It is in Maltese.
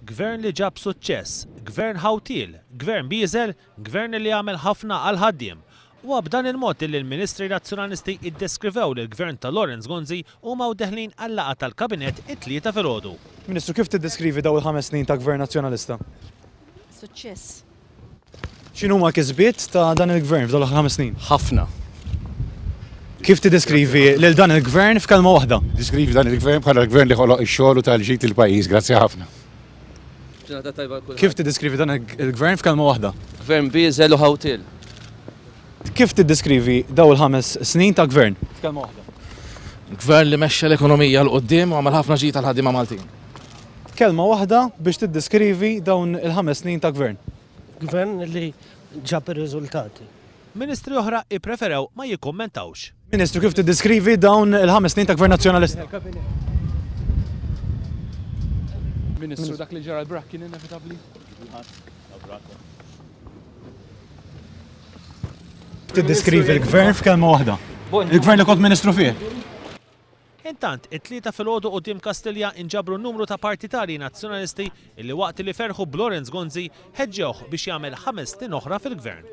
Gvern li ġab suċċess, Gvern ħawtiel, Gvern bieżel, Gvern li għamel ħafna għall-ħaddiem. Huwa b'dan il-mod illi l-Ministri Nazzjonalisti iddeskrivew lill-Gvern ta' Lawrence Gonzi huma u deħlin għal-laqgħa tal-Kabinett it-Tlieta filgħodu. Ministru, kif tiddeskrivi dawn il-ħames snin ta' Gvern Nazzjonalista? Suċċess. X'inhuma l-kisbiet ta' dan il-Gvern f'dawn l-aħħar ħames snin? Ħafna. Kif tiddeskrivi lil dan il-Gvern f'kelma waħda? Diskrivi dan il-Gvern bħala l-Gvern li ħoloq ix-xogħol u tal-ġid lill-pajjiż. Grazzi ħafna. Ġurnata tajba għal kulħadd. Kif tiddeskrivi dan il-Gvern f'kelma waħda? Gvern bieżel u ħawtiel. Kif tiddeskrivi dawn il-ħames snin ta' Gvern? F'kelma waħda. Gvern li mexxa l-ekonomija 'l quddiem u għamel ħafna ġid għall-ħaddiema Maltin. Kelma waħda biex tiddeskrivi dawn il-ħames snin ta' Gvern. Gvern li ġab ir-riżultati. Ministri oħra ippreferew ma jikkummentawx. Ministru, kif tiddeskrivi dawn il-ħames snin ta' Gvern Nazzjonalista? Ministru, dak li ġara l-brak kien inevitabbli? Tiddeskrivi l-Gvern f'kelma waħda. Il-Gvern li kont Ministru fih. Intant, it-Tlieta filgħodu quddiem Kastilja inġabru numru ta' partitarji Nazzjonalisti illi waqt li ferħu b'Lawrence Gonzi ħeġġewh biex jagħmel ħames snin oħra fil-Gvern.